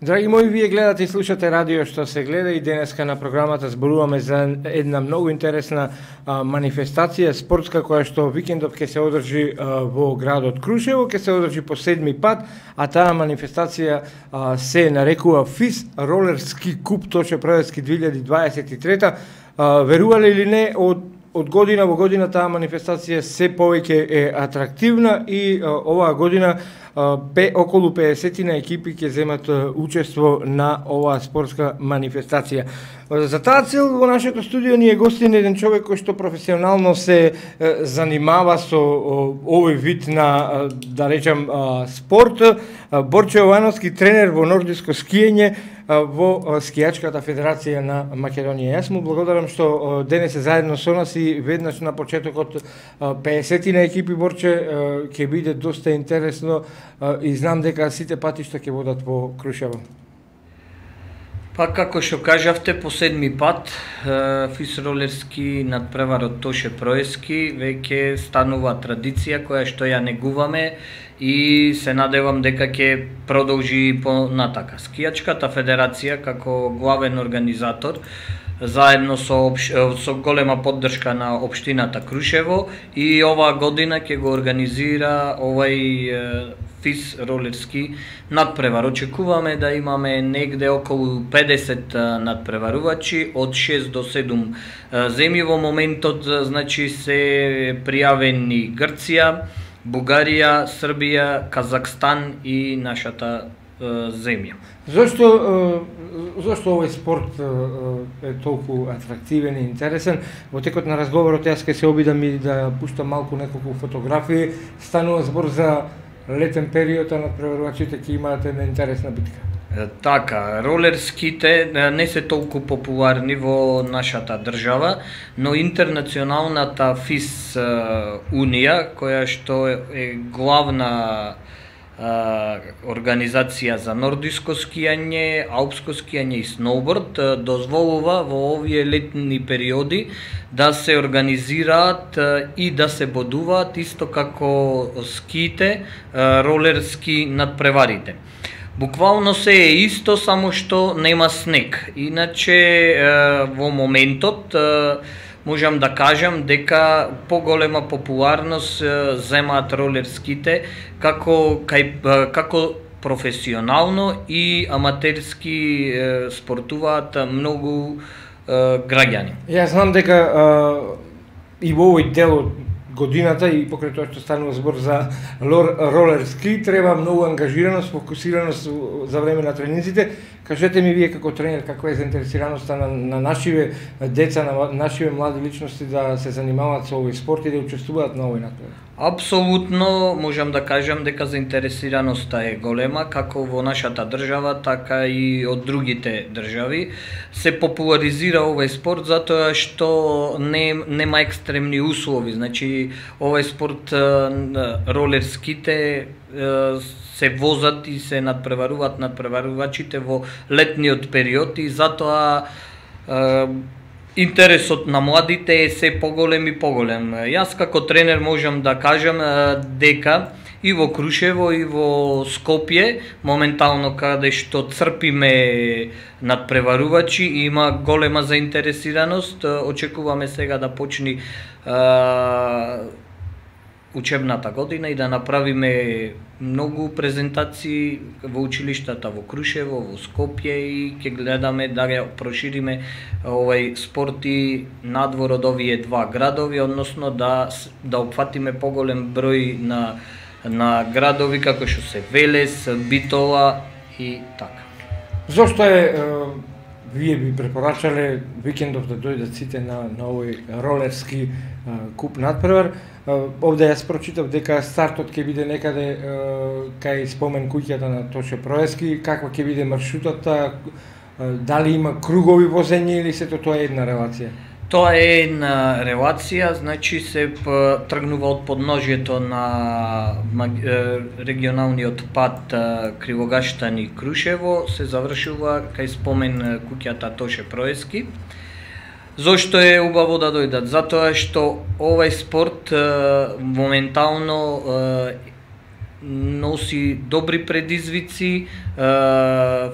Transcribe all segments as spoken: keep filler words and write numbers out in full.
Драги мои, вие гледате и слушате радио што се гледа и денеска на програмата зборуваме за една многу интересна а, манифестација спортска која што викендов ќе се одржи а, во градот Крушево, ќе се одржи по седми пат, а таа манифестација а, се нарекува ФИС Ролерски куп Тошепроевски две илјади дваесет и трета. А, верувале или не, од од година во година таа манифестација се повеќе е атрактивна и а, оваа година Пе, околу педесет екипи ќе земат учество на оваа спортска манифестација. За таа цел во нашето студио ни е гостин еден човек кој што професионално се занимава со овој вид на, да речам, спорт. Борче Јовановски, тренер во нордиско скијање во Скијачката федерација на Македонија. Јас му благодарам што денес е заедно со нас и веднаш на почетокот педесет екипи, Борче, ќе биде доста интересно и знам дека сите патишта ќе водат во Крушево. Па како што кажавте, по седми пат ФИС Ролерски надпреварот Тошепроевски веќе станува традиција која што ја негуваме и се надевам дека ќе продолжи понатака. Скијачката федерација како главен организатор заедно со, со голема поддршка на општината Крушево и оваа година ќе го организира овај ФИС Ролерски надпревар. Очекуваме да имаме негде околу педесет надпреварувачи од шест до седум земји. Во моментот значи се пријавени Грција, Бугарија, Србија, Казакстан и нашата земја. Зошто зошто овој спорт е толку атрактивен и интересен? Во текот на разговорот јас ќе се обидам и да пуштам малку неколку фотографии. Станува збор за летен период, а надпреварувачите ќе имаат една интересна битка. Така, ролерските не се толку популарни во нашата држава, но интернационалната ФИС Унија, која што е главна организација за нордиско скијање, алпско скијање и сноуборд, дозволува во овие летни периоди да се организираат и да се бодуваат исто како скиите, ролерски надпреварите. Буквално се е исто, само што нема снег. Иначе во моментот можам да кажам дека поголема популарност земаат ролерските како кај, како професионално и аматерски спортуваат многу граѓани. Јас знам дека а, и во овој дел од годината и покрај тоа што станува збор за ролерски треба многу ангажираност, фокусираност за време на тренинзите. Кажете ми вие како тренер каква е заинтересираноста на, на нашиве деца, на нашиве млади личности да се занимаваат со овој спорт и да учествуваат на овој надпревар? Апсолутно можам да кажам дека заинтересираноста е голема како во нашата држава, така и од другите држави. Се популаризира овој спорт затоа што не, нема екстремни услови. Значи, овој спорт, ролерските, се возат и се надпреваруваат надпреварувачите во летниот период и затоа интересот на младите е се поголем и поголем. Јас како тренер можам да кажам дека и во Крушево и во Скопје, моментално каде што црпиме надпреварувачи, има голема заинтересираност. Очекуваме сега да почни учебната година и да направиме многу презентации во училиштата во Крушево, во Скопје и ќе гледаме да ја прошириме овој спорт и надвор од овие два градови, односно да да опфатиме поголем број на на градови како што се Велес, Битола и така. Зошто е вие би препорачале викендов да дојдат сите на, на овој ролерски а, куп надпревар? Овде јас прочитав дека стартот ќе биде некаде кај спомен куќата на Тошепроевски. Каква ќе биде маршрутата? Дали има кругови возење или сето тоа е една релација? Тоа е една релација, значи се тргнува од подножјето на регионалниот пат Кривогаштани Крушево, се завршува кај спомен куќата Тошепроевски. Зошто е убаво да дојдат? Затоа што овај спорт моментално носи добри предизвици,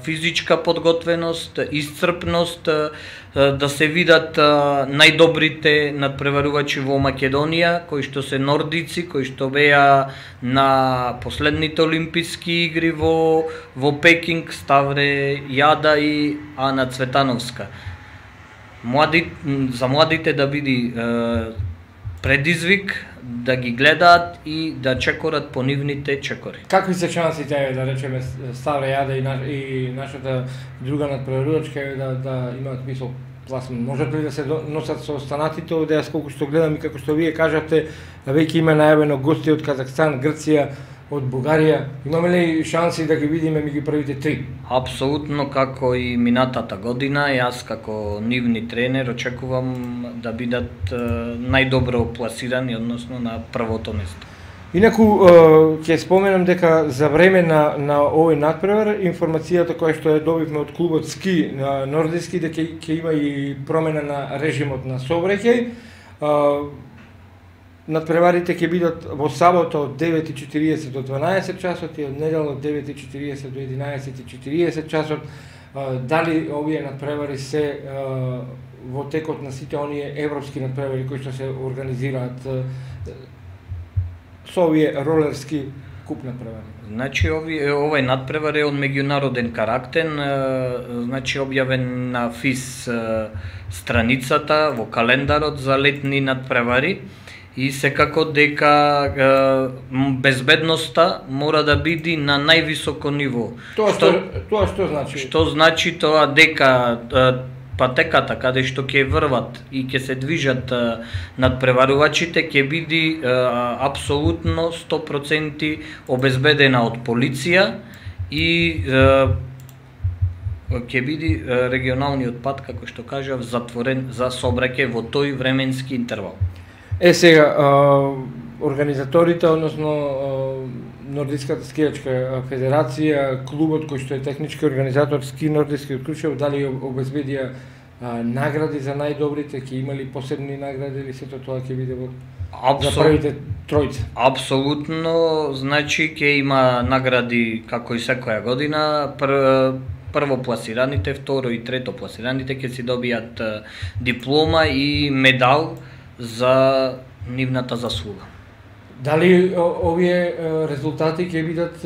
физичка подготвеност, исцрпност, да се видат најдобрите надпреварувачи во Македонија, кои што се нордици, кои што беа на последните олимписки игри во во Пекинг, Ставре Јада и Ана Цветановска. Млади, за младите да биде предизвик да ги гледаат и да чекорат по нивните чекори. Какви се шансите, да речеме, Ставре Јада и, на, и нашата друга надпреварувачка да, да имаат мисол пласман? Можат ли да се носат со останатите овде, колку што гледам и како што вие кажавте, веќе има најавено гости од Казахстан, Грција, од Бугарија. Имаме ли шанси да ги видиме меѓу првите три? Апсолутно, како и минатата година, јас како нивни тренер очекувам да бидат најдобро пласирани, односно на првото место. Инаку, ќе споменам дека за време на, на овој надпревар, информацијата која што ја добивме од клубот Ски на Нордиски, дека ќе има и промена на режимот на сообраќај. Надпреварите ќе бидат во сабота од девет и четириесет до дванаесет часот и од недела од девет и четириесет до единаесет и четириесет часот. Дали овие надпревари се во текот на сите оние европски надпревари кои што се организираат со овие ролерски куп надпревари? Значи, овој надпревар е од меѓународен карактер, значи објавен на ФИС страницата во календарот за летни надпревари. И секако дека е, безбедноста мора да биде на највисоко ниво. Тоа што, тоа што значи? Што значи тоа дека е, патеката каде што ќе врват и ќе се движат е, надпреварувачите ќе биде е, апсолутно сто проценти обезбедена од полиција и е, ќе биде регионалниот пат, како што кажав, затворен за сообраќај во тој временски интервал. Е, сега, а, организаторите, односно Нордиската скијачка федерација, клубот кој што е технички организатор Ски Нордиски од Крушево, дали обезбедија а, награди за најдобрите, ќе имали посебни награди или сето тоа ќе биде во Абсол... за првите тројца? Апсолутно, значи ќе има награди како и секоја година. Пр... Прво пласираните, второ и трето пласираните ќе си добијат диплома и медал за нивната заслуга. Дали овие резултати ќе бидат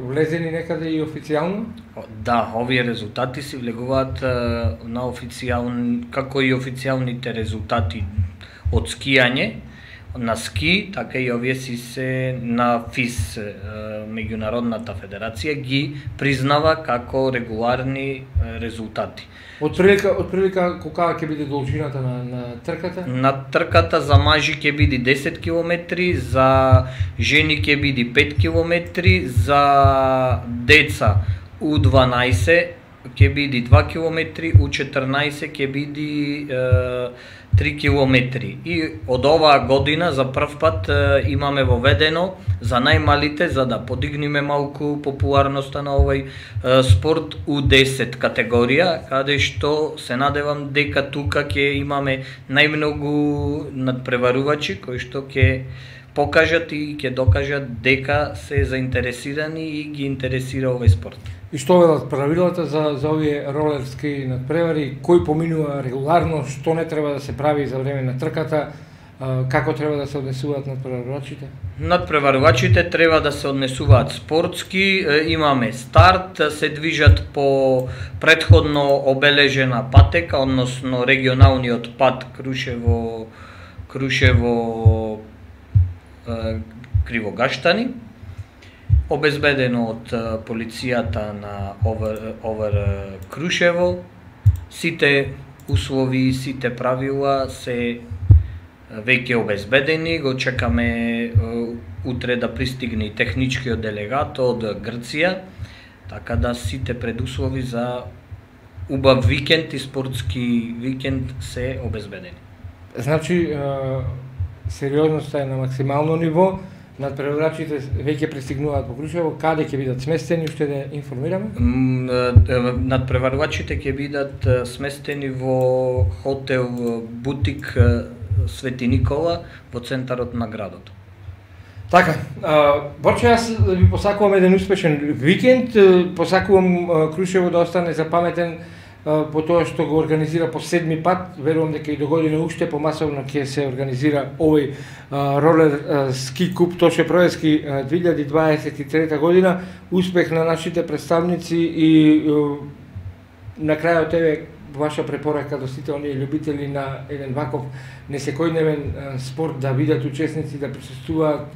влезени некаде и официјално? Да, овие резултати се влегуваат на официјални, како и официјалните резултати од скијање на ски, така и овие си се на ФИС, меѓународната федерација ги признава како регуларни резултати. Од прилика, од прилика колка ќе биде должината на, на трката? На трката за мажи ќе биде десет километри, за жени ќе биде пет километри, за деца У дванаесет ќе биде два километри, У четрнаесет ќе биде е, три километри. И од оваа година за прв пат е, имаме воведено за најмалите, за да подигнеме малку популарноста на овој е, спорт, У десет категорија, каде што се надевам дека тука ќе имаме најмногу надпреварувачи кои што ќе покажат и ќе докажат дека се заинтересирани и ги интересира овој спорт. И што велат правилата за, за овие ролерски надпревари, кој поминува регуларно, што не треба да се прави за време на трката, како треба да се однесуваат надпреварувачите? Надпреварувачите треба да се однесуваат спортски, имаме старт, се движат по претходно обележена патека, односно регионалниот пат Крушево, Крушево Кривогаштани, обезбедено од полицијата на Овер, Овер Крушево. Сите услови, сите правила се веќе обезбедени. Го чекаме утре да пристигне и техничкиот делегат од Грција, така да сите предуслови за убав викенд и спортски викенд се обезбедени. Значи, сериозноста е на максимално ниво. Надпреварувачите веќе пристигнуваат во Крушево, каде ќе бидат сместени, уште да информираме? Надпреварувачите ќе бидат сместени во хотел Бутик Свети Никола во центарот на градот. Така, Борче, јас ви посакувам еден успешен викенд, посакувам Крушево да остане запаметен по тоа што го организира по седми пат. Верувам дека и до година уште помасовно ќе се организира овој ролер ски куп Тоше Проески две илјади дваесет и трета година. Успех на нашите представници и на крајот еве ваша препорака до сите оние љубители на еден ваков несекојдневен спорт да видат учесници, да присуствуваат.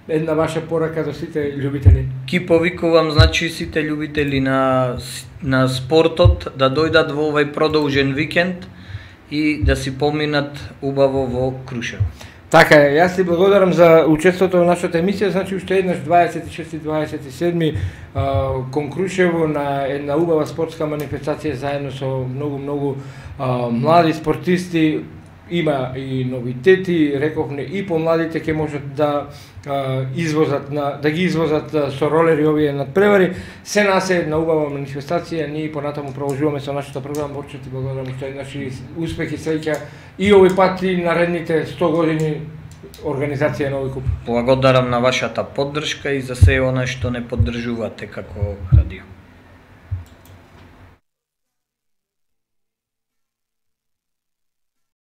Една ваша порака до сите љубители. Ки повикувам, значи, сите љубители на, на спортот да дојдат во овај продолжен викенд и да си поминат убаво во Крушево. Така е, јас ти благодарам за учеството во нашата емисија, значи уште еднаш дваесет и шести и дваесет и седми кон Крушево на една убава спортска манифестација заедно со многу многу а, млади спортисти. Има и новитети, рековме и помладите ќе можат да а, извозат на да ги извозат а, со ролери овие надпревари. Се нас е една убава манифестација, ние понатаму продолжуваме со нашата програма. Борче, ти благодарам уште еднаш и успех и среќа и овој пат и наредните сто години организација на овој куп. Благодарам на вашата поддршка и за се она што не поддржувате како радио.